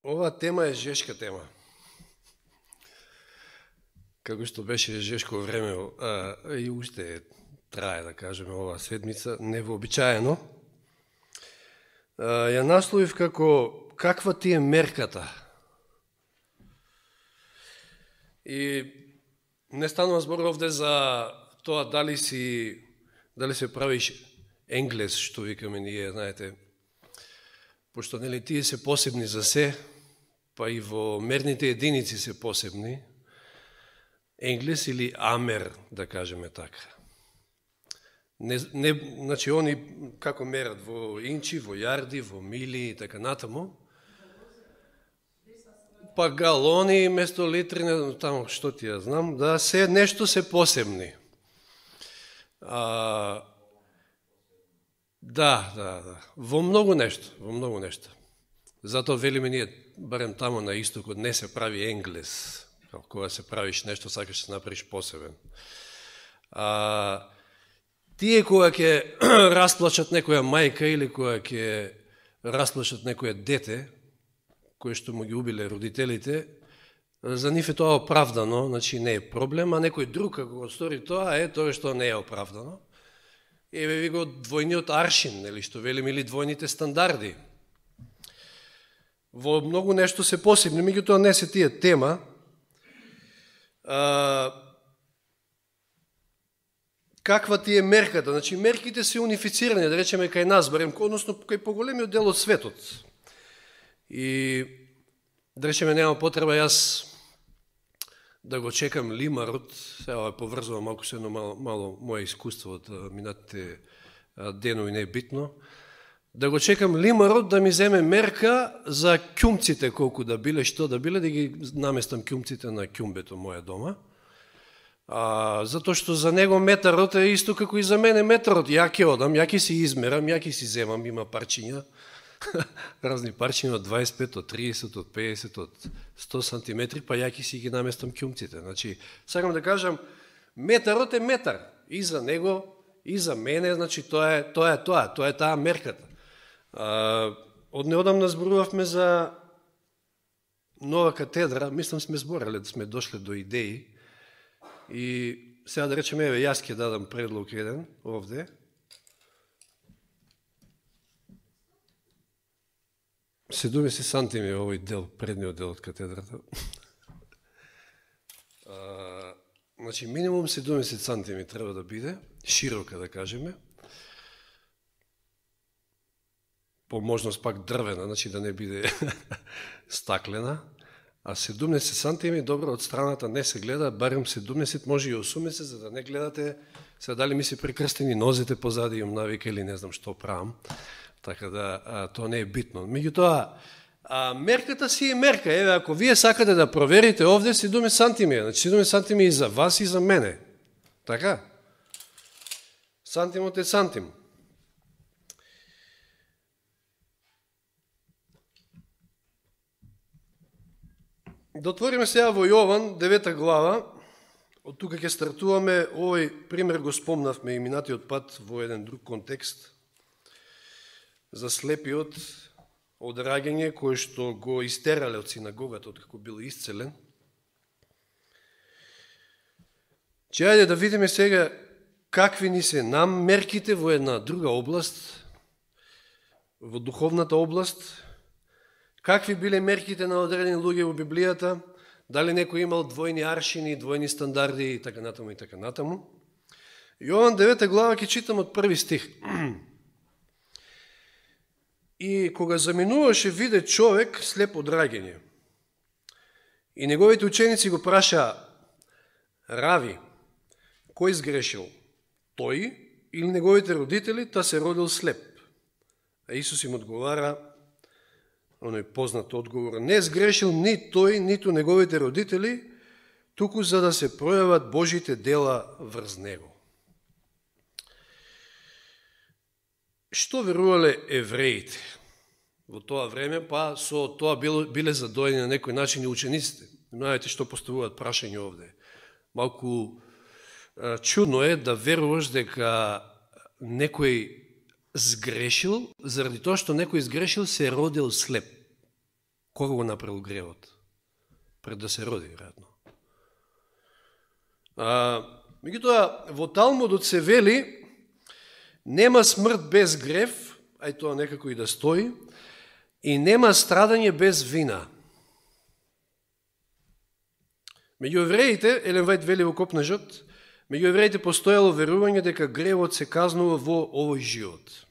Ова тема е жешка тема. Како што беше жешко време, и уште трае, да кажеме, оваа седмица, невообичаено. Ја насловив како каква ти е мерката. И не станува збор овде за тоа дали се правиш енглес, што викаме ние, знаете, пошто нели тие се посебни за се, па и во мерните единици се посебни, енглес или амер, да кажеме така. Значи, они како мерат во инчи, во јарди, во мили и така натаму, па галони место литри, таму што ти ја знам, да се нешто се посебни. Да, во многу нешто. Затоа велиме ние, барем таму на истокот, не се прави енглес, кога се правиш нешто, сакаш да се направиш посебен. Тие кога ќе расплачат некоја мајка или кога ќе расплачат некоја дете, кое што му ги убиле родителите, за нив е тоа оправдано, значи не е проблем, а некој друг како го стори тоа, тоа што не е оправдано. Еве ви го двојниот аршин, нели што велим, или двојните стандарди. Во многу нешто се посебни, меѓутоа не се тие тема. Каква ти е мерката? Значи, мерките се унифицирани, да речеме, кај нас, барем, односно кај поголемиот дел од светот. И, да речеме, нема потреба јас да го чекам лимарот, сега поврзувам малку се едно мало моje искуство од минатите денови, не е битно, да го чекам лимарот да ми земе мерка за ќумците, колку да биле, што да биле, да ги наместам ќумците на ќумбето моја дома. Затоа што за него метарот е исто како и за мене метарот. Ја ќе одам, ја ќе си измерам, ја ќе си земам, има парчиња, разни парчиња од 25, од 30, од 50, од 100 сантиметри, па ја ќе си ги наместам ќумците. Значи, сакам да кажам, метарот е метар. И за него, и за мене, значи, тоа е таа мерката. Од неодамна зборувавме за нова катедра, мислам сме зборале, да сме дошле до идеи, и сега да речеме, еве, јас ќе дадам предлог еден овде. Седумдесет сантими овој дел, предниот дел од катедрата. Значи, минимум 70 сантими треба да биде, широка да кажеме, по можност пак дрвена, значи да не биде стаклена, а 70 сантими, добро, од страната не се гледа, барем 70, може и 80, за да не гледате, сега дали ми се прекрстени нозите позади, имам навика или не знам што правам, така да тоа не е битно. Меѓутоа, мерката си е мерка, еве, ако вие сакате да проверите овде, 70 сантими, значи 70 сантими и за вас и за мене, така? Сантимот е сантим. Да отвориме сега во Јован, 9 глава, од тука ќе стартуваме, овој пример го спомнавме и минатиот пат во еден друг контекст, за слепиот од раѓање кој што го истерале од синагогата, од како бил исцелен. Че ајде да видиме сега какви ни се нам мерките во една друга област, во духовната област, какви биле мерките на одредени луѓе во Библијата, дали некој имал двојни аршини, двојни стандарди и така натаму и така натаму. Јован 9 глава ќе читам од први стих. И кога заминуваше, виде човек слеп од раѓање. И неговите ученици го праша: Рави, кој сгрешил? Тој или неговите родители, та се родил слеп? А Исус им одговара, оној познат одговор: не сгрешил ни тој, ниту неговите родители, туку за да се пројават Божите дела врз него. Што верувале евреите во тоа време, па со тоа биле задоени на некој начин и учениците. Знаете што поставуваат прашање овде. Малку чудно е да веруваш дека некој сгрешил, заради тоа што некој сгрешил се родил слеп. Кога го направил гревот? Пред да се роди, веројатно. Меѓутоа, во Талмудот се вели, нема смрт без грев, ај тоа некако и да стои, и нема страдање без вина. Меѓу евреите, Елен Вајт вели во Копнежот, меѓу евреите постоело верување дека гревот се казнува во овој живот.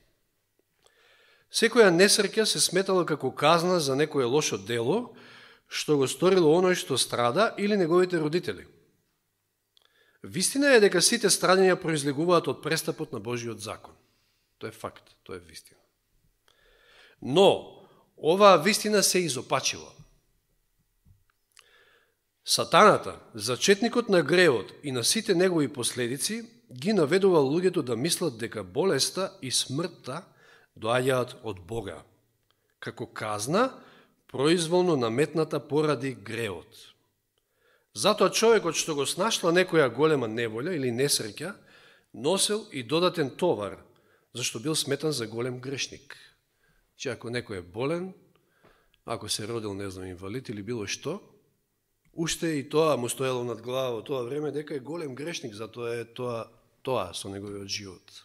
Секоја несреќа се сметала како казна за некое лошо дело, што го сторило оној што страда или неговите родители. Вистина е дека сите страдања произлегуваат од престапот на Божиот закон. Тоа е факт, тоа е вистина. Но, оваа вистина се изопачила. Сатаната, зачетникот на гревот и на сите негови последици, ги наведувал луѓето да мислат дека болеста и смртта доаѓаат од Бога, како казна, произволно наметната поради гревот. Затоа човекот што го снашла некоја голема неволја или несреќа, носел и додатен товар, зашто бил сметан за голем грешник. Че ако некој е болен, ако се родил, не знам, инвалид или било што, уште и тоа му стоело над глава во тоа време, дека е голем грешник, затоа е тоа со неговиот живот.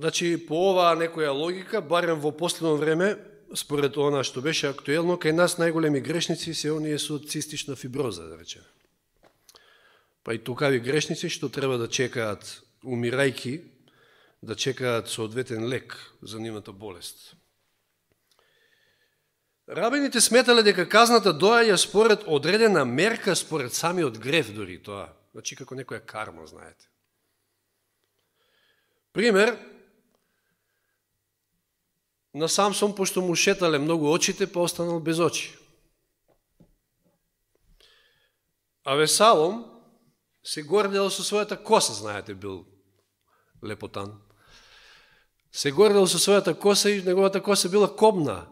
Значи, по оваа некоја логика, барем во последно време, според она што беше актуелно, кај нас најголеми грешници се оние со цистична фиброза, да речеме. Па и тукави грешници што треба да чекаат, умирајки, да чекаат соодветен лек за нивната болест. Рабините сметале дека казната доаѓа според одредена мерка, според самиот грев дори тоа. Значи како некоја карма, знаете. Пример, на Самсон, пошто му шетале многу очите, па останал без очи. А Весалом се гордел со својата коса, знаете, бил лепотан. Се гордел со својата коса и неговата коса била кобна.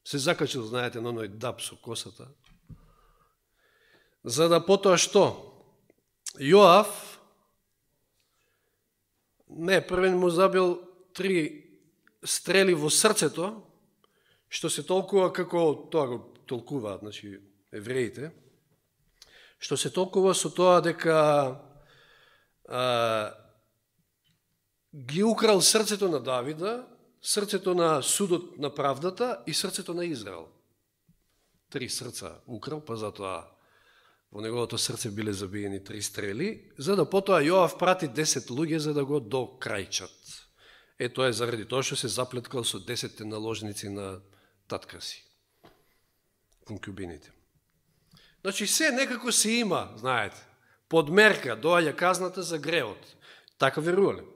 Се закачил, знаете, на оној даб со косата. За да потоа што? Јоав, првен му забил 3 стрели во срцето, што се толкува како, тоа го толкуваат, значи, евреите, што се толкува со тоа дека ги украл срцето на Давида, срцето на судот на правдата и срцето на Израел. 3 срца украл, па затоа во неговото срце биле забиени 3 стрели, за да потоа Јоав прати 10 луѓе за да го докрајчат. Тоа е заради тоа што се заплеткал со 10 наложници на татка си, конкубините. Значи, се некако се има, знаете, подмерка, доаѓа казната за гревот. Така верувале.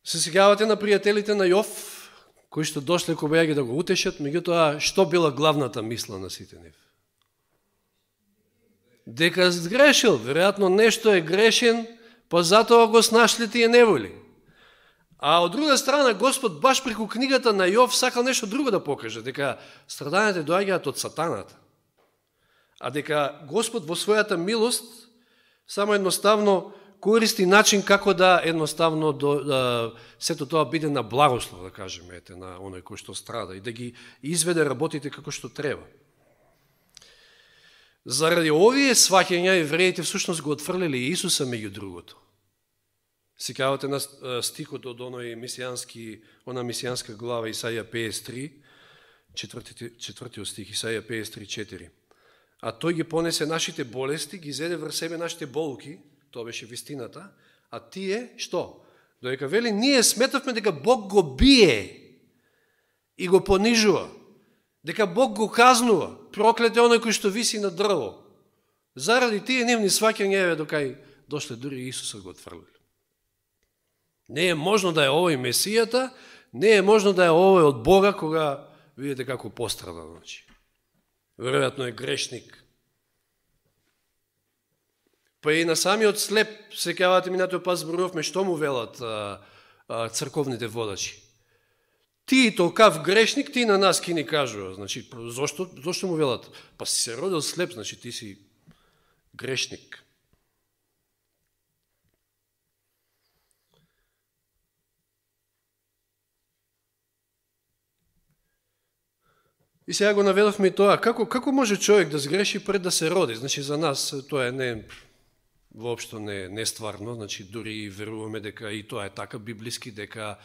Се сеќавате на пријателите на Јов, кои што дошле кога ги да го утешат, меѓутоа, што била главната мисла на сите нив? Дека сгрешил, веројатно нешто е грешен, па затоа го снашли тие неволи. А од друга страна, Господ баш преку книгата на Јов сакал нешто друго да покаже, дека страдањата доаѓаат од сатаната. А дека Господ во својата милост само едноставно користи начин како да едноставно сето тоа биде на благослов, да кажеме, на оној кој што страда и да ги изведе работите како што треба. Заради овие сваќања евреите всушност го отфрлили Исуса меѓу другото. Сеќавате на стихот од она мисијанска глава Исаја 53, четвртиот стих Исаја 53:4. А тој ги понесе нашите болести, ги зеде врз себе нашите болки, тоа беше вистината, а тие што? Додека вели, ние сметавме дека Бог го бие и го понижува, дека Бог го казнува, проклет е оној кој што виси на дрво. Заради тие нивни сваќања, докај дошле дури Исуса го отфрлили. Не е можно да е овој Месијата, не е можно да е овој од Бога, кога видите како пострада. Веројатно е грешник. Па и на самиот слеп, сеќавате минатиот пат зборувавме, што му велат црковните водачи. Ти толкав грешник, ти на нас ки ни кажува. Значи, зошто му велат? Па си се родил слеп, значи ти си грешник. И сега го наведовме и тоа, како може човек да сгреши пред да се роди? Значи, за нас тоа е воопшто не стварно, значи, дури веруваме дека и тоа е така библиски, дека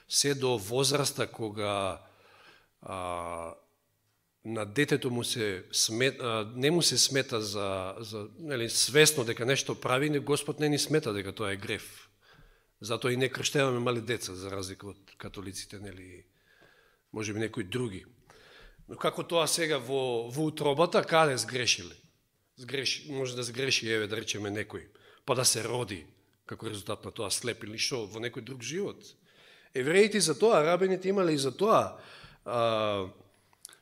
се до возраста кога на детето му не му се смета за свесно дека нешто прави, Господ не ни смета дека тоа е греф. Затоа и не крштеваме мали деца, за разлика од католиците, нели, може би некои други. Но како тоа сега во утробата, каде сгрешиле? Може да сгреши, да речеме некој, па да се роди, како резултат на тоа слеп или шо, во некој друг живот. Евреите за тоа, рабините имале и за тоа,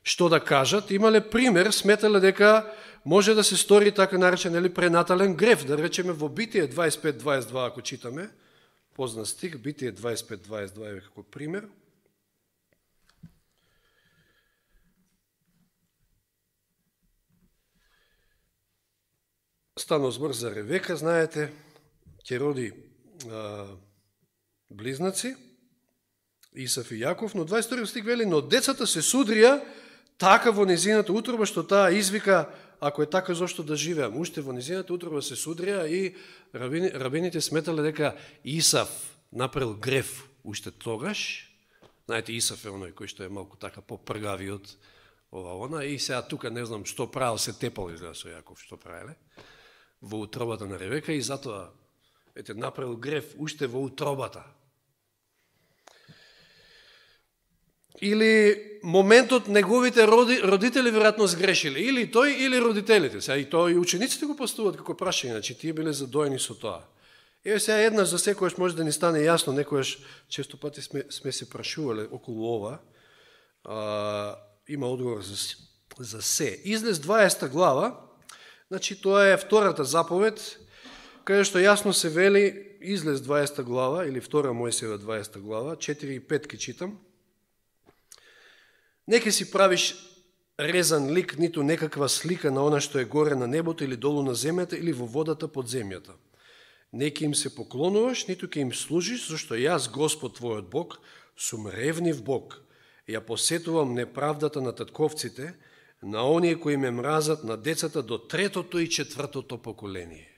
што да кажат, имале пример, сметале дека може да се стори така наречен пренатален греф, да речеме во Битие 25-22, ако читаме, познат стих, Битие 25-22 е како пример. Станал збор за Ревека, знаете, ќе роди близнаци, Исав и Јаков, но 22 стих вели, но децата се судрија така во незината утроба, што таа извика, ако е така, зошто да живеам? Уште во незината утроба се судрија и рабините сметале дека Исав направил греф уште тогаш. Знаете, Исав е оној кој што е малку така попргави од ова, и сега тука не знам што правил, се тепал изгледа со Јаков, што правиле во утробата на Ревека и затоа направил греф уште во утробата. Или моментот неговите родители веројатно сгрешиле, или тој, или родителите. Сега и тоа и учениците го поставуваат како прашање, значи тие биле задоени со тоа. Еве сега еднаш за секојаш може да ни стане јасно, некојаш често пати сме се прашувале околу ова. Има одговор за се. Излез 20 глава, значи тоа е втората заповед, каде што јасно се вели, излез 20 глава, или втора Мојсеева 20 глава, 4 и 5 ки читам. Не ке си правиш резан лик, ниту некаква слика на она што е горе на небото или долу на земјата или во водата под земјата. Не ке им се поклонуваш, ниту ке им служиш, зашто јас, Господ твојот Бог, сум ревнив Бог. Ја посетувам неправдата на татковците, на оние кои ме мразат, на децата до 3-то и 4-то поколение.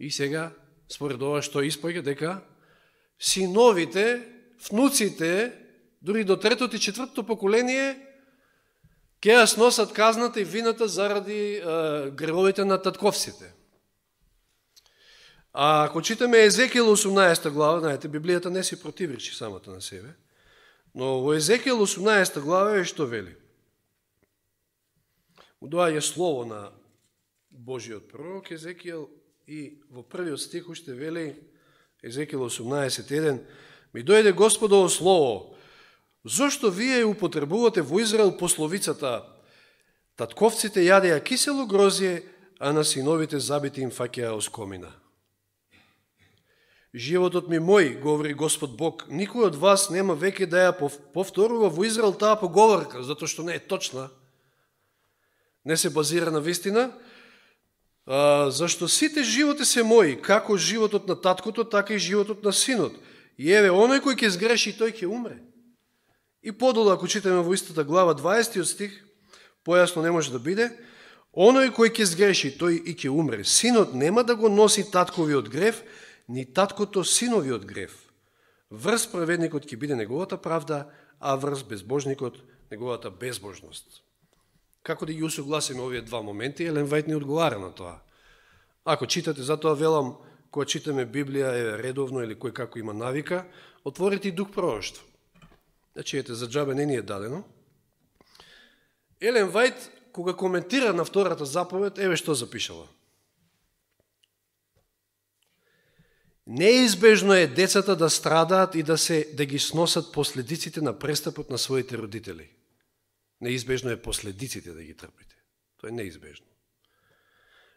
И сега, според ова што испаѓа, дека синовите, внуците, дури до 3-то и 4-то поколение, ќе ја сносат казната и вината заради гревовите на татковците. А ако читаме Езекијел 18 глава, знаете, Библијата не си противречи самата на себе, но во Езекијел 18 глава е што вели. Доаѓа слово на Божиот пророк Езекијел и во првиот стих уште вели Езекијел 18:1, ми дојде Господово слово, зошто вие употребувате во Израел пословицата, татковците јадеја кисело грозје, а на синовите забити им фаќаја оскомина. Животот ми мој, говори Господ Бог, никој од вас нема веќе да ја повторува во Израел таа поговорка, затоа што не е точна, не се базира на вистина, зашто сите животи се мои, како животот на таткото, така и животот на синот. И еве, оној кој ќе сгреши, тој ќе умре. И подолу, ако читаме во истата глава, 20 стих, појасно не може да биде, оној кој ќе сгреши, тој и ќе умре. Синот нема да го носи татковиот грев, ни таткото синовиот грев. Врз праведникот ќе биде неговата правда, а врз безбожникот неговата безбожност. Како да ги усогласиме овие два моменти, Елен Вајт ни одговара на тоа. Ако читате, затоа велам, кога читаме Библија редовно или кој како има навика, отворите и дух пророштво. Значи, ете, за џабе не ни е дадено. Елен Вајт, кога коментира на втората заповед, еве што запишала. Неизбежно е децата да страдаат и да ги сносат последиците на престапот на своите родители. Неизбежно е последиците да ги трпите. Тоа е неизбежно.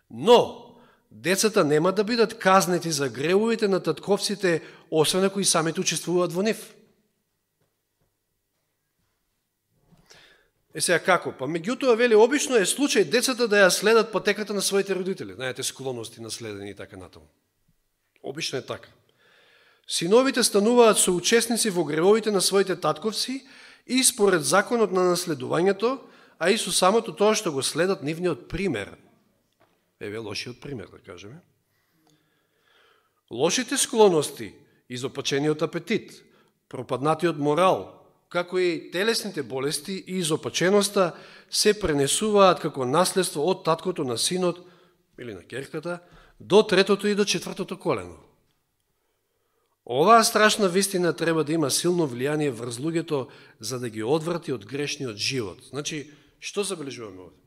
Но, децата нема да бидат казнети за гревовите на татковците, освен ако и самите учествуваат во нив. Сега како? Па меѓутоа вели, обично е случај децата да ја следат патеката на своите родители. Знаете, склонности наследени и така натаму. Обично е така. Синовите стануваат соучесници во гревовите на своите татковци и според законот на наследувањето, а и со самото тоа што го следат нивниот пример. Еве лошиот пример, да кажеме. Лошите склоности, изопачениот апетит, пропаднатиот морал, како и телесните болести и изопаченоста се пренесуваат како наследство од таткото на синот или на ќерката до третото и до четвртото колено. Оваа страшна вистина треба да има силно влијание врз луѓето за да ги одврати од грешниот живот. Значи, што забележуваме овде?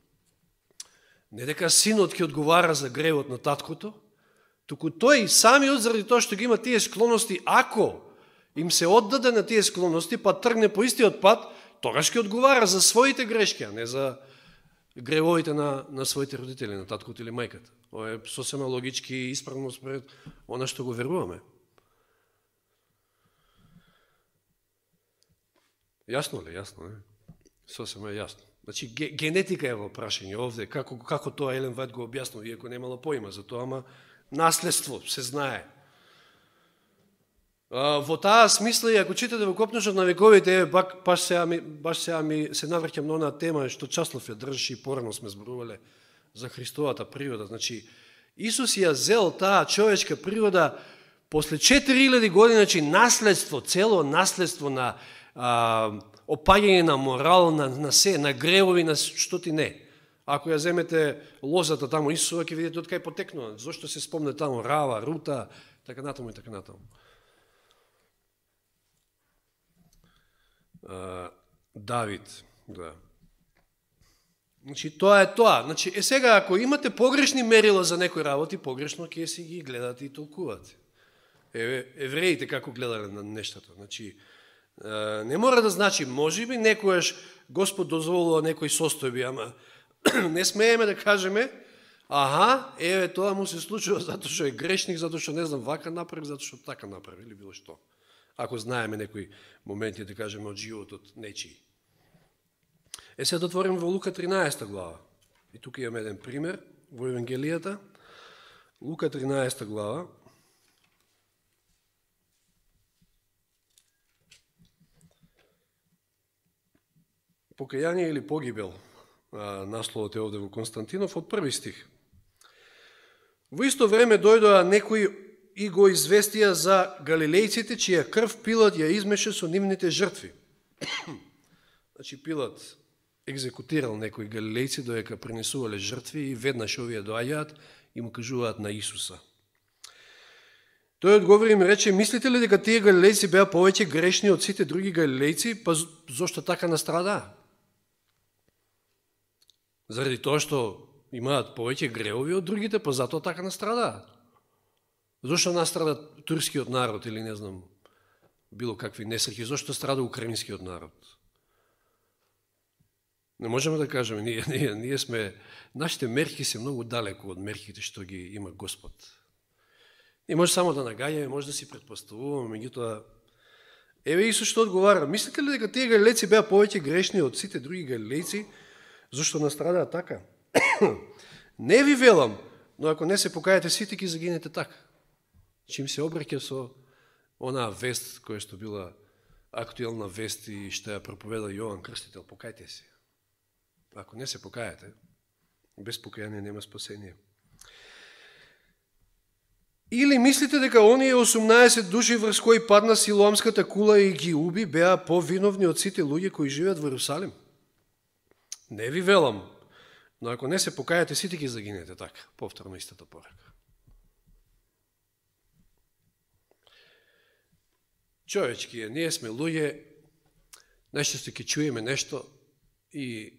Не дека синот ќе одговара за гревот на таткото, туку тој самиот заради тоа што ги има тие склоности, ако им се оддаде на тие склоности, па тргне по истиот пат, тогаш ќе одговара за своите грешки, а не за гревовите на своите родители, на таткото или мајката. Ова е сосема логички и исправно според она што го веруваме. Јасно ли? Јасно, не? Сосема е јасно. Значи, генетика е во прашање овде, како тоа Елен Вајт го објаснува, иако немало поима за тоа, ама наследство се знае. Во таа смисла, и ако читате во Копнежот на вековите, баш сега ми се навраќам на онаа тема што Часлов ја држи и порано сме зборувале за Христовата природа. Значи, Исус ја зел таа човечка природа после 4000 години, значи наследство, цело наследство на опаѓање на морал, на се, на гревови, на што ти не. Ако ја земете лозата таму Исусова, ќе видите од кај потекнува. Зошто се спомне таму Рава, Рута, така натаму и така натаму. Давид, да. Значи, тоа е тоа. Значи, сега, ако имате погрешни мерила за некои работи, погрешно ќе си ги гледате и толкувате. Евреите како гледале на нештата. Значи, не мора да значи, можеби некојаш Господ дозволува некои состојби, ама не смееме да кажеме, тоа му се случува затоа што е грешник, затоа што не знам вака направи, затоа што така направи или било што. Ако знаеме некои моменти, да кажеме, од животот нечии. Сега да отворим во Лука 13 глава. И тука имаме еден пример во Евангелијата. Лука 13 глава. Покаяние или погибел, насловот е овде во Константинов, од први стих. Во исто време дојдоа некои и го известија за галилејците, чија крв Пилат ја измеше со нивните жртви. Значи Пилат екзекутирал некои галилејци додека принесувале жртви и веднаш овие доаѓаат и му кажуваат на Исуса. Тој одговори и ми рече, мислите ли дека тие галилејци беа повеќе грешни од сите други галилејци, па зошто така настрадаа? Заради тоа што имаат повеќе гревови од другите, па затоа така настрадаат. Зошто настрада турскиот народ или не знам, било какви несреќи, зошто страда украинскиот народ? Не можеме да кажеме, ние сме, нашите мерки се многу далеко од мерките што ги има Господ. Ние може само да нагаѓаме, може да си предпоставуваме, меѓутоа, еве Исус што одговара, мислите ли дека тие галилејци беа повеќе грешни од сите други галилејци, зашто настрадаат така? Не ви велам, но ако не се покајате, сите ќе загинете така. Чим се обраќа со онаа вест која што била актуелна вест и што ја проповеда Јован Крстител, покајте се. Ако не се покајате, без покаяние нема спасение. Или мислите дека оние 18 души врз кои падна Силоамската кула и ги уби беа повиновни од сите луѓе кои живеат во Иерусалим? Не ви велам, но ако не се покајате, сите ќе загинете така. Повторно истата порака. Човечки е, ние сме луѓе, најчесто ќе чуеме нешто и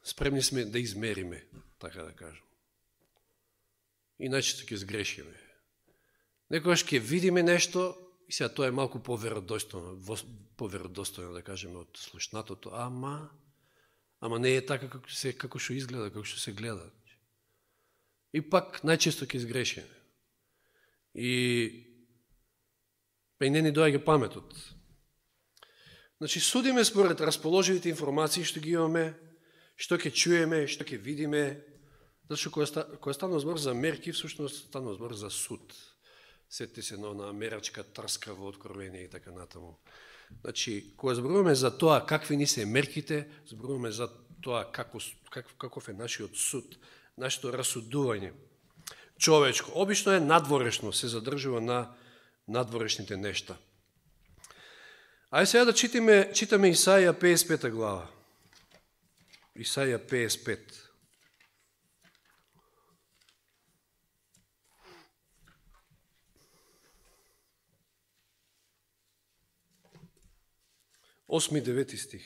спремни сме да измериме, така да кажем. И најчесто ќе сгрешиме. Некогаш ќе видиме нешто и сега тоа е малку поверодостојно, да кажеме од слушнатото, ама не е така како што изгледа, како што се гледа. И пак најчесто ќе сгрешиме. И не ни доаѓа паметот. Значи, судиме според расположивите информации што ги имаме, што ќе чуеме, што ќе видиме, зашто кога станува збор за мерки, всушност станува збор за суд. Сетите се на мерачка трска во Откровение и така натаму. Значи, кога зборуваме за тоа какви ни се мерките, зборуваме за тоа каков е нашиот суд, нашето расудување. Човечко, обично е надворешно, се задржува на надворешните нешта. Ајде сега да читаме Исаија 55 глава. Исаија 55. Осми, 9 стих.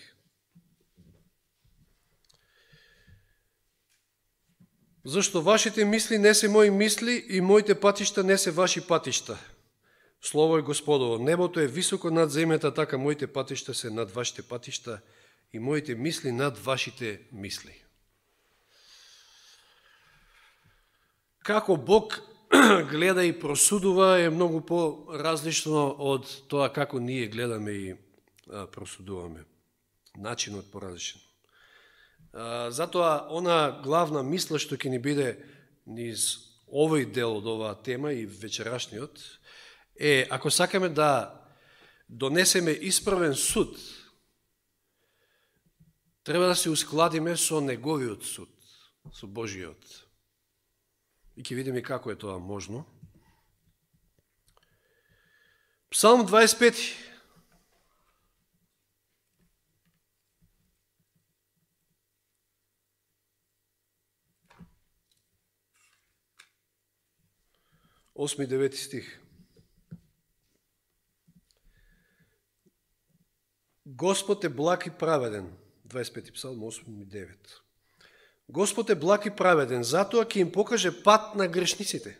Зашто вашите мисли не се мои мисли и моите патишта не се ваши патишта. Слово е Господово. Небото е високо над земјата, така моите патишта се над вашите патишта и моите мисли над вашите мисли. Како Бог гледа и просудува е многу по-различно од тоа како ние гледаме и просудуваме. Начинот поразличен. Затоа, она главна мисла што ќе ни биде низ овој дел од оваа тема и вечерашниот, е, ако сакаме да донесеме исправен суд, треба да се ускладиме со неговиот суд, со Божиот. И ќе видиме како е тоа можно. Псалм 25. Осми, 9 стих. Господ е благ и праведен. 25 псалм, 8 и 9. Господ е благ и праведен, затоа ќе им покаже пат на грешниците.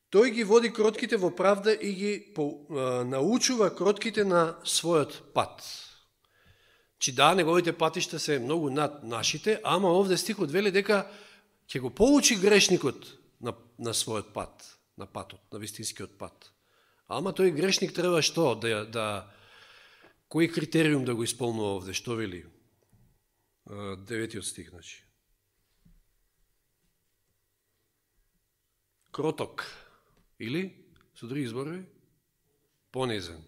Тој ги води кротките во правда и ги научува кротките на својот пат. Чи да, неговите патишта се многу над нашите, ама овде стихот вели дека ќе го поучи грешникот на својот пат, на патот, на вистинскиот пат. Ама тој грешник треба што? Кој критериум да го исполнува овде? Што вели? 9 стих, значи. Кроток. Или, со други зборови, понизен.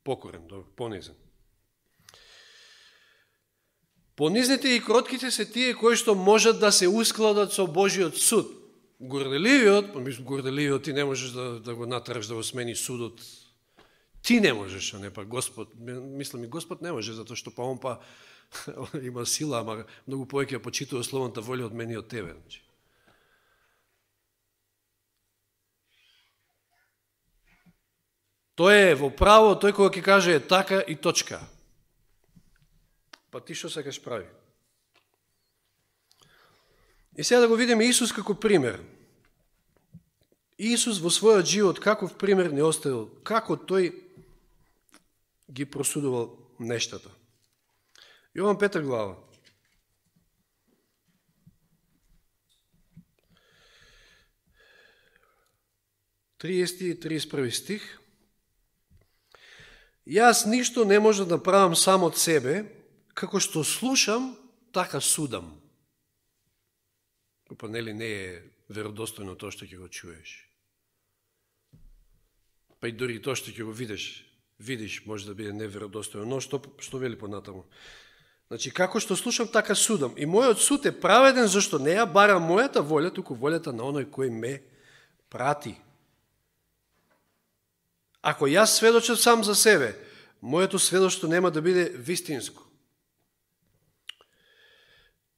Покорен, понизен. Понизните и кротките се тие кои што можат да се ускладат со Божиот суд. Горделивиот ти не можеш да го натараш да го смени судот. Ти не можеш, а не па Господ. Мислам и Господ не може, затоа што он има сила, ама многу повеќе почитува словната волја од мене и од тебе. Тој е во право, тој кога ќе каже е така и точка. Па ти што сакаш прави? И сега да го видиме Исус како пример. Исус во својот живот каков пример не оставил, како тој ги просудувал нештата. Јован 5 глава. 30 и 31 стих. Јас ништо не може да правам сам од себе, како што слушам, така судам. Па нели не е веродостојно тоа што ќе го чуеш. Па и дори тоа што ќе го видиш може да биде неверодостојно. Но што вели понатаму? Значи, како што слушам, така судам. И мојот суд е праведен, зашто не ја барам мојата волја, туку волјата на оној кој ме прати. Ако јас сведочам сам за себе, моето сведоштво нема да биде вистинско.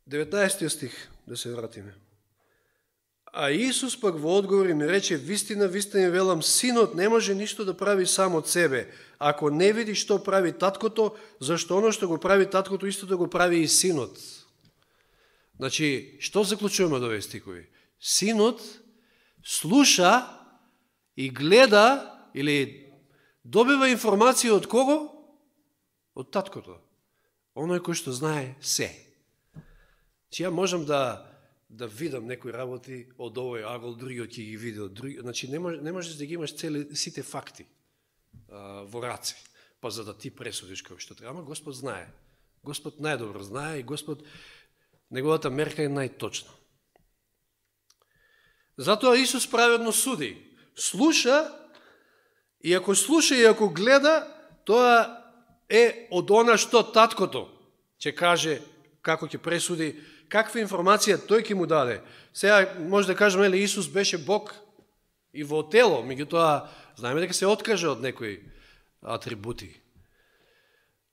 19 стих, да се вратиме. А Исус пак во одговор ми рече, вистина, вистина велам, синот не може ништо да прави сам од себе, ако не види што прави таткото, зашто оно што го прави таткото, исто да го прави и синот. Значи, што заклучуваме од овие стихови? Синот слуша и гледа или добива информација од кого? Од таткото. Оној кој што знае се. Чи ја можам да видам некои работи од овој агол, другиот ќе ги види од други. Значи, не можеш да ги имаш сите факти во раце, па за да ти пресудиш како што треба. Ама Господ знае. Господ најдобро знае и Господ, неговата мерка е најточна. Затоа Исус праведно суди. Слуша, и ако слуша и ако гледа, тоа е од она што таткото ќе каже, како ќе пресуди, каква информација тој ќе му даде. Сега може да кажеме, Исус беше Бог и во тело, меѓутоа знаеме дека се откаже од некои атрибути.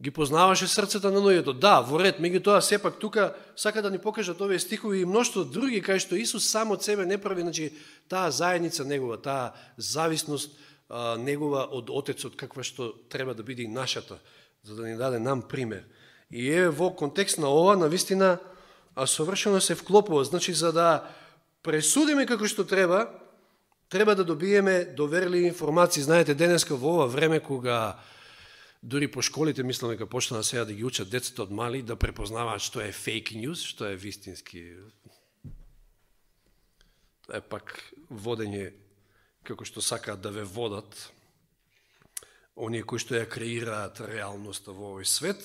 Ги познаваше срцата на луѓето. Да, во ред, меѓутоа сепак тука сака да ни покажат овие стихови и множество други кај што Исус сам од себе не прави, значи таа заедница негова, таа зависност негова од Отецот, каква што треба да биде и нашата, за да ни даде нам пример. И е во контекст на ова, навистина, совршено се вклопува. Значи, за да пресудиме како што треба да добиеме доверливи информации. Знаете, денеска во ова време, кога дури по школите, мислам дека почнаа сега да ги учат децата од мали, да препознаваат што е фейк ньюс, што е вистински. Тоа е пак водење како што сакаат да ве водат оние кои што ја креираат реалноста во овој свет.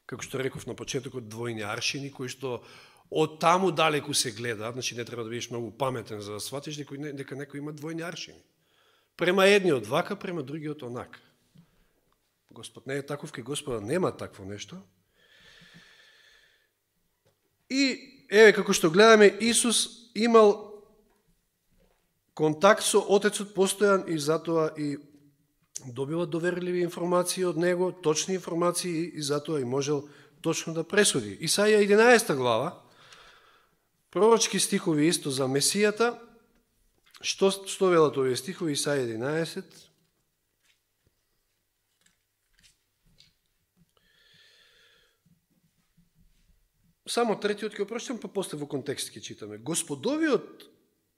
Како што реков на почетокот, двојни аршини, кои што од таму далеку се гледа, значи не треба да бидеш многу паметен за да сватиш дека некој има двојни аршини. Према едниот вака, према другиот онака. Господ не е таков, кај Господа нема такво нешто. И еве како што гледаме, Исус имал контакт со Отецот постојан и затоа и добива доверливи информации од него, точни информации и затоа и можел точно да пресуди. Исаија 11 глава, пророчки стихови исто за Месијата. Што велат овие стихови? Исаија 11. Само третиот ќе опрочитам, па после во контекст ќе читаме. Господовиот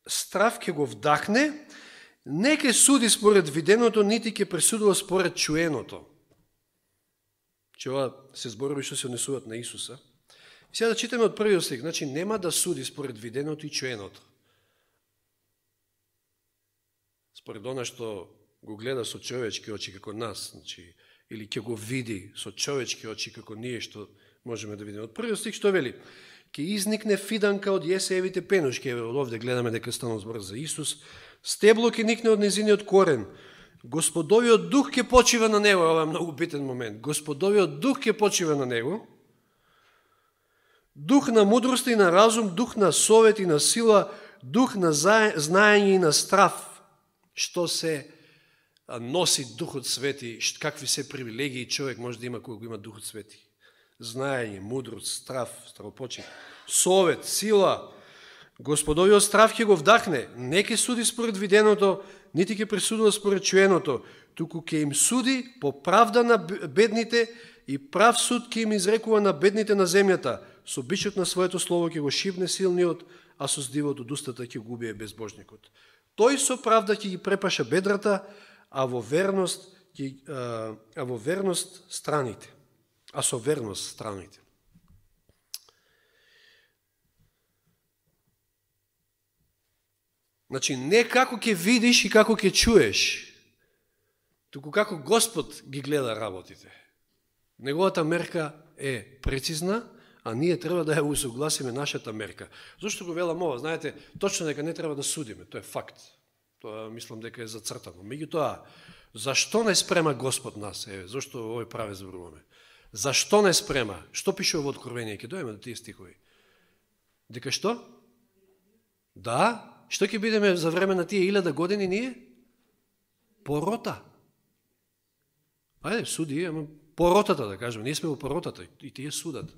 страв ќе го вдахне, не ќе суди според виденото, нити ќе пресудува според чуеното. Че ова се зборови што се однесуваат на Исуса. И сега да читаме од првиот стих. Значи, нема да суди според виденото и чуеното. Според она што го гледа со човечки очи како нас, значи, или ќе го види со човечки очи како ние што можеме да видиме. Од првиот стих што вели? Ке изникне фиданка од Јесеевите пенушки. Од овде гледаме дека станува збор за Исус. Стебло ке никне од незиниот корен. Господовиот дух ке почива на него. Ова е многу битен момент. Господовиот дух ке почива на него. Дух на мудрост и на разум, дух на совет и на сила, дух на знаење и на страв. Што се носи Духот Свети, какви се привилегии човек може да има кога го има Духот Свети. Знаење, мудрост, страв, стравопочит, совет, сила. Господовиот страв ќе го вдахне, не ќе суди според виденото, нити ќе пресудува според чуеното, туку ќе им суди по правда на бедните и прав суд ќе им изрекува на бедните на земјата. Со бичот на своето слово ќе го шибне силниот, а со здивот од устата ќе го убие безбожникот. Тој со правда ќе ги препаша бедрата, а во верност страните. А со верност страните. Значи, не како ќе видиш и како ќе чуеш, туку како Господ ги гледа работите. Неговата мерка е прецизна, а ние треба да ја усогласиме нашата мерка. Зошто го велам ова? Знаете, точно дека не треба да судиме, тоа е факт. Тоа мислам дека е зацртано. Меѓутоа, зашто не спрема Господ нас? Зошто овој праве зборуваме? Зашто не спрема? Што пише во Откровение? Ке дојме до тие стихови. Дека што? Да? Што ќе бидеме за време на тие 1000 години ние? Порота. Ајде, суди, ама поротата, да кажем. Ние сме во поротата и тие судат.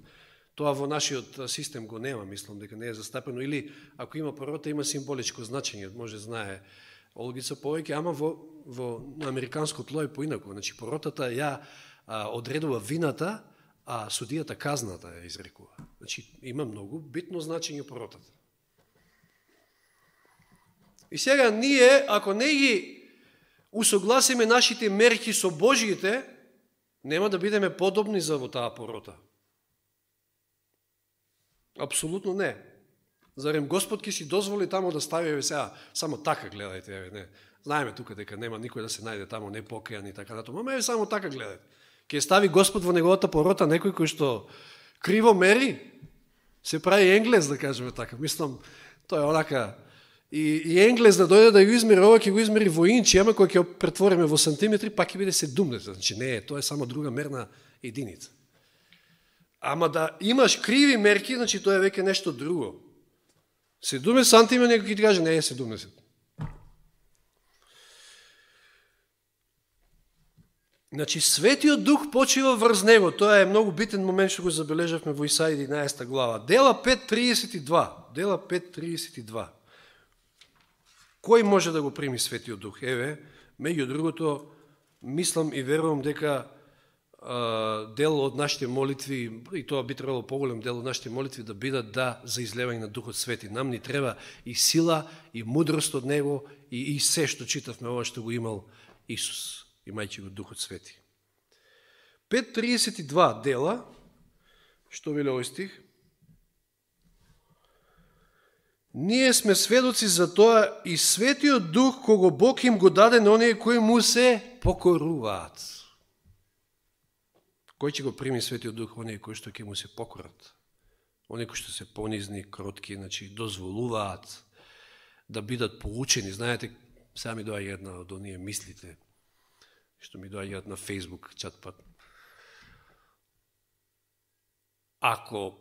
Тоа во нашиот систем го нема, мислам дека не е застапено. Или, ако има порота, има символичко значење. Може знае Олгица повеќе, ама во американско тло е поинако. Значи, поротата ја одредува вината, а судијата казната ја изрекува. Значи, има многу битно значење поротата. И сега ние, ако не ги усогласиме нашите мерки со Божиите, нема да бидеме подобни за во таа порота. Апсолутно не. Зарем Господ ќе си дозволи тамо да стави сега, само така гледајте, не. Знаеме тука дека нема никој да се најде тамо непокајан и така натаму, ама само така гледајте. Ќе стави Господ во неговата порота некој кој што криво мери, се прави енглез, да кажеме така. Мислам, тоа е онака И Енглез да дојде да го измери, ова ќе го измери во инчи, ама кој ќе претвориме во сантиметри, пак ќе биде 17. Значи не, тоа е само друга мерна единица. Ама да имаш криви мерки, значи тоа е веќе нешто друго. 17 сантима, некој ќе ти каже, не е 70. Значи, Светиот Дух почива врз него. Тоа е многу битен момент што го забележавме во Исаија 11 глава. Дела 5.32. Дела 5.32. Кој може да го прими Светиот Дух? Еве, меѓу другото, мислам и верувам дека дел од нашите молитви, и тоа би требало поголем дел од нашите молитви да бидат за излевање на Духот Свети. Нам ни треба и сила, и мудрост од него, и се што читавме ова што го имал Исус, имајќи го Духот Свети. 5.32 дела, што веле овој стих? Ние сме сведоци за тоа и Светиот Дух кого Бог им го даде на оние кои му се покоруваат. Кој ќе го прими Светиот Дух? Оние кои што ќе му се покорат. Оние кои што се понизни, кротки, значи дозволуваат да бидат поучени. Знаете, сега ми доаѓа една од оние мислите, што ми доаѓаат на Facebook чатпат. Ако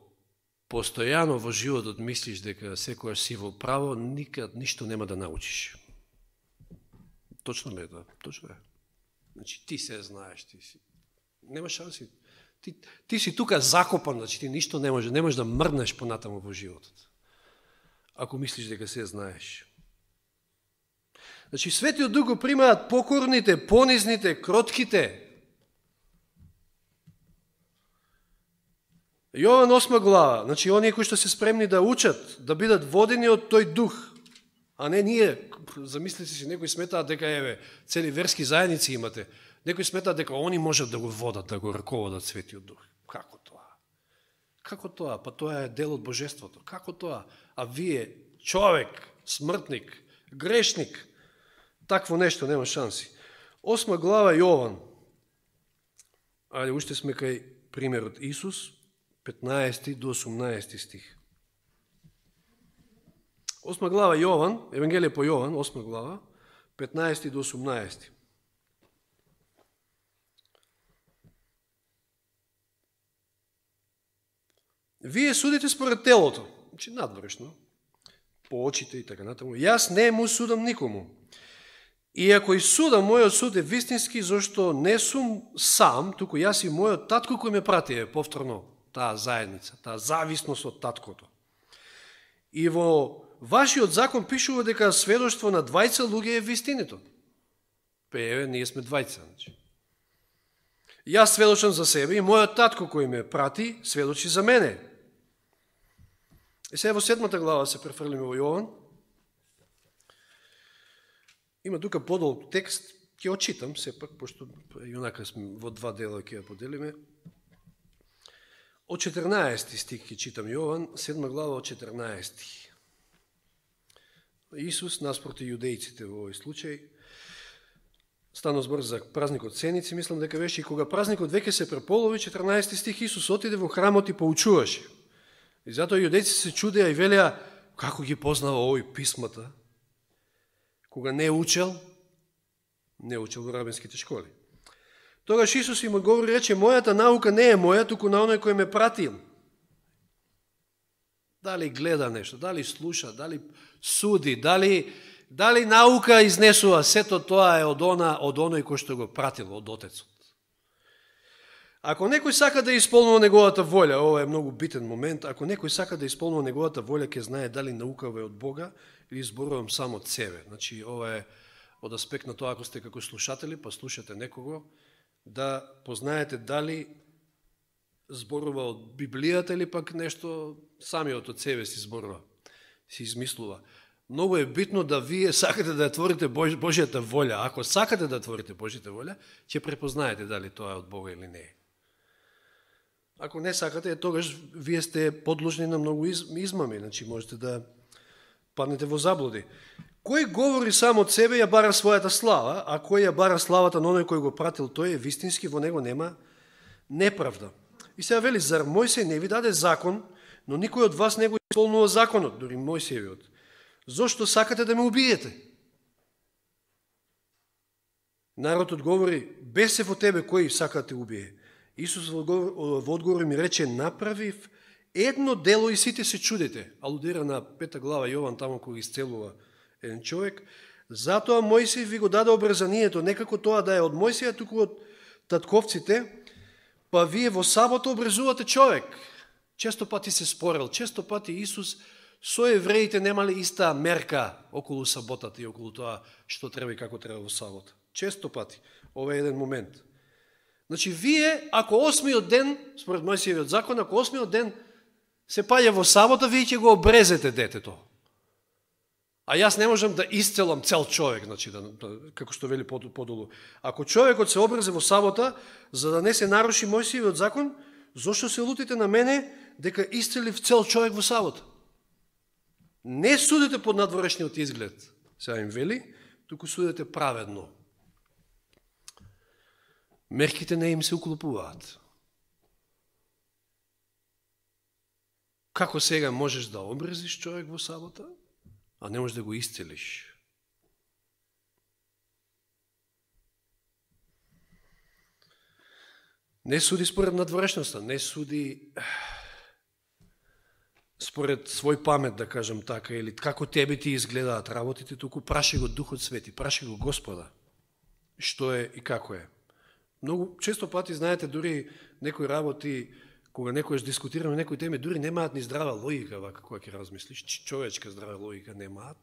постојано во животот мислиш дека секојаш си во право, никад ништо нема да научиш. Точно ме тоа, точно е. Значи ти се знаеш, ти си. Нема шанси. Ти си тука закопан, значи ти ништо не можеш да мрднеш понатаму во животот. Ако мислиш дека се знаеш. Значи Светиот Дух го примаат покорните, понизните, кротките. Јован 8 глава, значи оние кои што се спремни да учат, да бидат водени од тој дух, а не ние, замислите си, некои сметаат дека еве, цели верски заедници имате, некои сметаат дека они можат да го водат, да го раководат Светиот Дух. Како тоа? Како тоа? Па тоа е дел од Божеството. Како тоа? А вие, човек, смртник, грешник, такво нешто нема шанси. 8 глава Јован. Ајде, уште сме кај примерот Исус, 15 до 18 стих. 8 глава Јован, Евангелие по Јован, 8 глава, 15 до 18. Вие судите според телото, значи надворешно, по очите и така натаму. Јас не му судам никому. И ако и судам, мојот суд е вистински, зашто не сум сам, туку јас и мојот татко кој ме прати, повторно, таа заедница, таа зависност од таткото. И во вашиот закон пишува дека сведоштво на двајца луѓе е вистинито. Еве, ние сме двајца. Значи. Јас сведочам за себе и мојот татко кој ме прати, сведочи за мене. И сега во 7 глава се префрлиме во Јован. Има тука подолг текст, ќе очитам сепак, пошто јонака сме во два дела ќе ја поделиме. Од 14 стих ќе читам Јован, 7 глава од 14. Исус наспроти јудејците во овој случај. Стано збор за празникот Сеници, мислам дека беше и кога празникот веќе се преполови, 14 стих, Исус отиде во храмот и поучуваше. И затоа јудејците се чудеа и велеа како ги познава овој писмата, кога не учел во рабинските школи. Тогаш Исус им одговори и рече, мојата наука не е моја, туку на оној кој ме пратил. Дали гледа нешто, дали слуша, дали суди, дали наука изнесува, сето тоа е од оној кој што го пратил, од Отецот. Ако некој сака да исполнува неговата волја, ова е многу битен момент, ако некој сака да исполнува неговата волја, ќе знае дали наукава е од Бога или зборувам само од себе. Значи, ова е од аспект на тоа, ако сте како слушатели, па слушате некого, да познаете дали зборува од Библијата или пак нешто самиот од себе си зборува, си измислува. Многу е битно да вие сакате да творите Божјата волја. Ако сакате да творите Божјата волја, ќе препознаете дали тоа е од Бога или не е. Ако не сакате, тогаш вие сте подложни на многу измами, значи можете да паднете во заблуди. Кој говори само од себе, ја бара својата слава, а кој ја бара славата на оној кој го пратил, тој е вистински, во него нема неправда. И сега вели, зар Мојсей не ви даде закон, но никој од вас не го исполнува законот, дури Мојсеевиот. Зошто сакате да ме убиете? Народ одговори, бесев од тебе кој сака да те убие. Исус во одговор ми рече, направив едно дело и сите се чудите. Алудира на 5 глава Јован, тамо кој исцелува еден човек. Затоа Мојсей ви го даде обрезанието, некако тоа да е од Мојсија, туку од татковците, па вие во сабота обрезувате човек. Често пати се спорел, често пати Исус со евреите немале иста мерка околу саботата и околу тоа што треба и како треба во сабота. Често пати. Ова е еден момент. Значи, вие, ако 8-миот ден, според Мојсиевиот закон, ако 8-миот ден се паѓа во сабота, вие ќе го обрезете детето. А јас не можам да исцелам цел човек, значи, како што вели подолу. Ако човекот се обрезе во сабота, за да не се наруши Мојсиевиот закон, зошто се лутите на мене дека исцелив цел човек во сабота? Не судите под надворешниот изглед, сега им вели, туку судите праведно. Мерките не им се уклопуваат. Како сега можеш да обрезиш човек во сабота, а не можеш да го исцелиш? Не суди според надворешноста, не суди според свој памет, да кажем така, или како тебе ти изгледаат работите, туку праши го Духот Свети, праши го Господа, што е и како е. Многу често пати, знаете, дури некои работи, кога некојаш дискутираме некои теми, дури немаат ни здрава логика, вака кога ќе размислиш, човечка здрава логика немаат.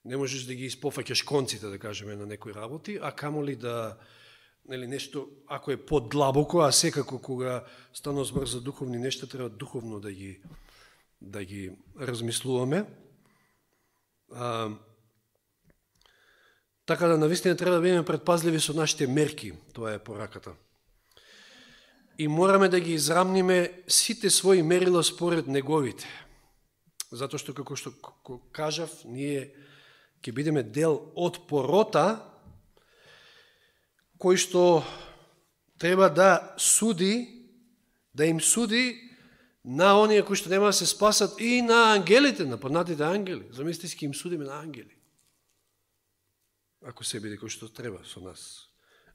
Не можеш да ги испофаќаш конците, да кажеме, на некои работи, а камоли да, нели, нешто, ако е подлабоко, а секако кога станува збор за духовни нешта, треба духовно да ги размислуваме. Така да навистина треба да бидеме предпазливи со нашите мерки, тоа е пораката. И мораме да ги израмниме сите своји мерила според неговите. Затоа што, како што кажав, ние ќе бидеме дел од порота, кој што треба да суди, да им суди на оние кои што нема да се спасат и на ангелите, на паднатите ангели. Замислите си, ќе им судиме на ангели. Ако се биде кој што треба со нас.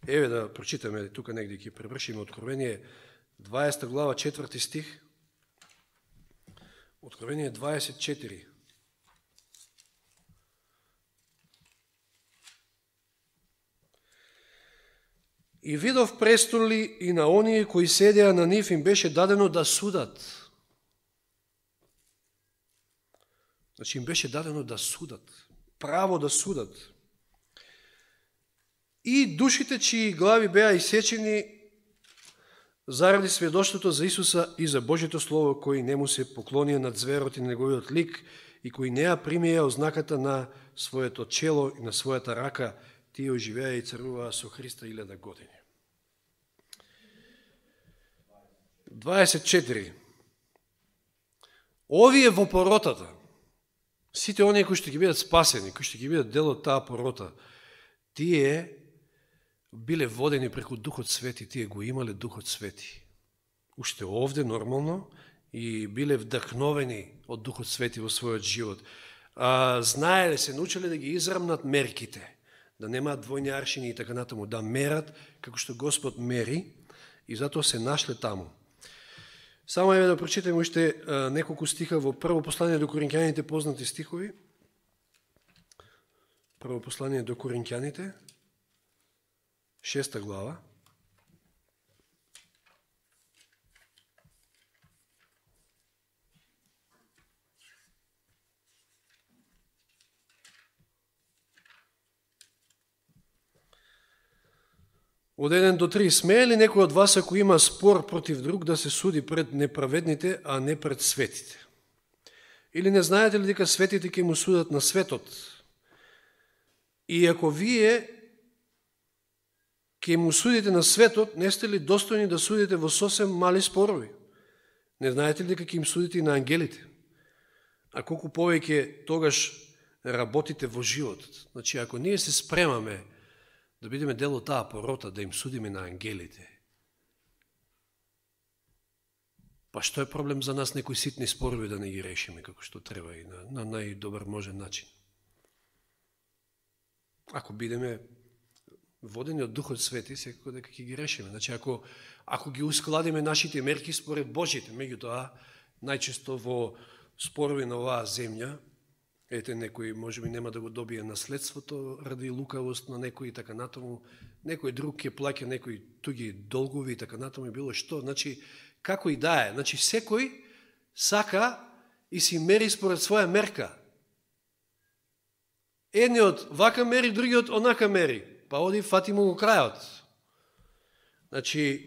Еве да прочитаме, тука негде ќе превршиме Откровение 20 глава 4 стих. Откровение 24. И видов престоли и на оние кои седеа на нив им беше дадено да судат. Значи им беше дадено да судат. Право да судат. И душите чии глави беа исечени заради сведоштвото за Исуса и за Божјето Слово, кои не му се поклонија над зверот и неговиот лик, и кои не ја примија ознаката на своето чело и на својата рака, тие оживеа и царуваа со Христа 1000 години. 24. Овие во поротата, сите оние кои што ќе бидат спасени, кои што ќе бидат дел од таа порота, тие биле водени преку Духот Свети, тие го имале Духот Свети. Уште овде, нормално, и биле вдахновени од Духот Свети во својот живот. Знаеле се, научеле да ги израмнат мерките, да немаат двојни аршини и така натаму, да мерат како што Господ мери, и затоа се нашле таму. Само еве да прочитаме уште неколку стиха во прво послание до Коринќаните, познати стихови. Прво послание до Коринќаните, 6 глава. Од 1 до 3. Смее ли некој од вас, ако има спор против друг, да се суди пред неправедните, а не пред светите? Или не знаете ли дека светите ќе му судат на светот? И ако вие ќе му судите на светот, не сте ли достојни да судите во сосем мали спорови? Не знаете ли дека ќе им судите и на ангелите? А колку повеќе тогаш работите во животот? Значи, ако ние се спремаме да бидеме дел од таа порота, да им судиме на ангелите, Па што е проблем за нас некои ситни спорови да не ги решиме како што треба и на најдобар можен начин? Ако бидеме водени од Духот Свети, секако дека ќе ги решиме. Значи, ако ги ускладиме нашите мерки според Божите, меѓутоа, најчесто во спорови на оваа земја, ете, некој можеби нема да го добие наследството ради лукавост на некој и така натаму, некој друг ќе плаќа некои туги долгови и така натаму и било што. Значи, како и да е. Значи, секој сака и си мери според своја мерка. Едниот вака мери, другиот онака мери. Па оди, фати му го крајот. Значи,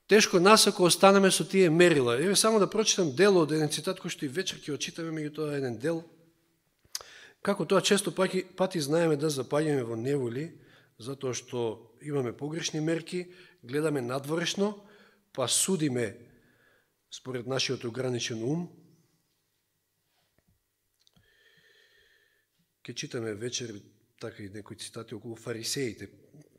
тешко нас ако останеме со тие мерила. Еве само да прочитам дел од еден цитат кој што и вечер ќе очитаме, меѓутоа еден дел. Како тоа често пати знаеме да запаѓаме во неволи, затоа што имаме погрешни мерки, гледаме надворешно, па судиме според нашиот ограничен ум. Ке читаме вечер така и некои цитати околу фарисеите,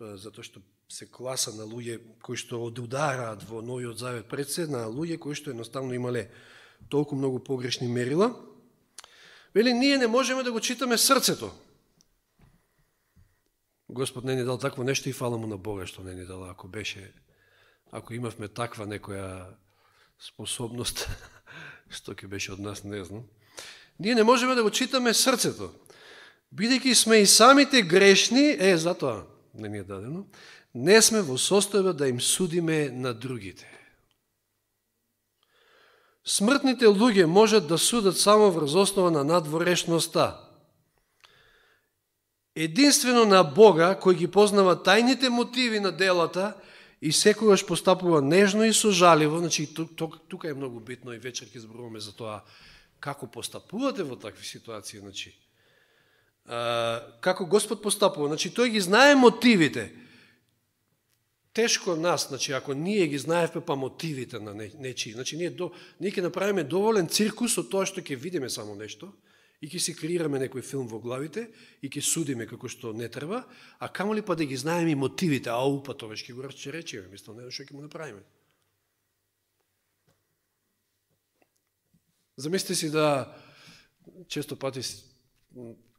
затоа што се класа на луѓе кои што одудараат во Новиот Завет пред се, на луѓе кои што едноставно имале толку многу погрешни мерила. Вели, ние не можеме да го читаме срцето. Господ не ни дал такво нешто и фала му на Бога што не ни дал. Ако имавме таква некоја способност, што ќе беше од нас, не знам. Ние не можеме да го читаме срцето. Бидејќи сме и самите грешни, затоа не ни е дадено, не сме во состојба да им судиме на другите. Смртните луѓе можат да судат само врз основа на надворешноста. Единствено на Бога, кој ги познава тајните мотиви на делата и секогаш постапува нежно и сожаливо, значи тука е многу битно и вечер ќе зборуваме за тоа како постапувате во такви ситуации, значи како Господ постапува, значи тој ги знае мотивите. Тешко нас, значи ако ние ги знаевме па мотивите на нечии, значи ние ќе направиме доволен циркус од тоа што ќе видиме само нешто и ќе си креираме некој филм во главите и ќе судиме како што не треба, а камоли па да ги знаеме и мотивите, па тоа ќе го расчеречиме, мислам, не што ќе му направиме. Замислите си да често пати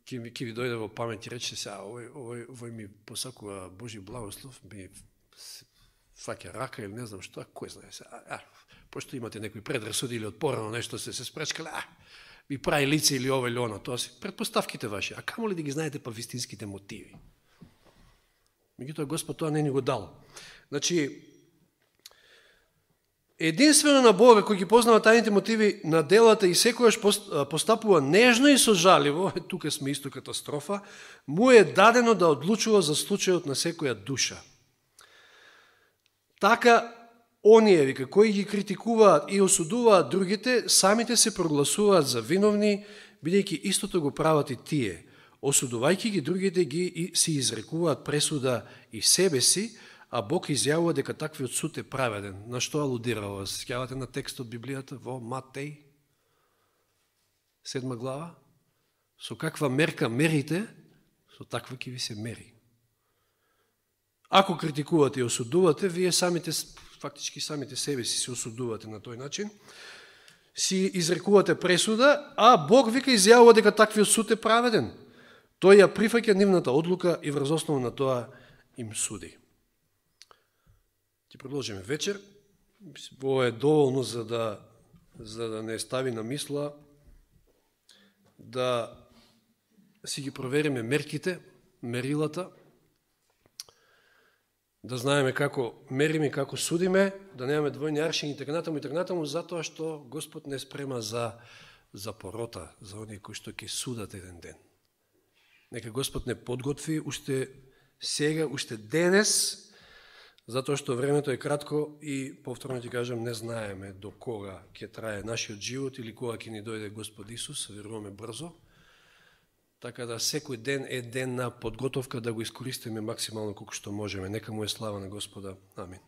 ќе ви дојде во памет и рече се, овој ми посакува Божи благослов, ми фаќа рака или не знам што, кој знае се, пошто имате некои предрасуди или од порано нешто се спречкале, ви прави лице или ова или оно, тоа си предпоставките ваши, а камо ли да ги знаете па вистинските мотиви? Меѓутоа Господ тоа не ни го дал. Значи, единствено на Бога, кој ги познава тајните мотиви на делата и секојаш постапува нежно и сожаливо, тука сме исто катастрофа, му е дадено да одлучува за случајот на секоја душа. Така, оние, кои ги критикуваат и осудуваат другите, самите се прогласуваат за виновни, бидејќи истото го прават и тие. Осудувајќи ги другите, ги си изрекуваат пресуда и себе си, а Бог изјавува дека таквиот суд е праведен. На што алудира ова? Сеќавате на текст од Библијата во Матеј, 7 глава? Со каква мерка мерите, со таква ќе ви се мери. Ако критикувате и осудувате, вие фактички самите себе си се осудувате на тој начин, си изрекувате пресуда, а Бог вика изјавува дека таквиот суд е праведен. Тој ја прифаќа нивната одлука и врз основа на тоа им суди. Ќе продолжиме вечер. Ова е доволно за да не стави на мисла да си ги провериме мерките, мерилата, да знаеме како мериме, како судиме, да немаме двојни аршини и така натаму, затоа што Господ не спрема за порота, за оние кои што ќе судат еден ден. Нека Господ не подготви уште сега, уште денес, затоа што времето е кратко и повторно ти кажам, не знаеме до кога ќе трае нашиот живот или кога ќе ни дојде Господ Исус, веруваме брзо. Така да секој ден е ден на подготовка да го искористиме максимално колку што можеме. Нека му е слава на Господа. Амин.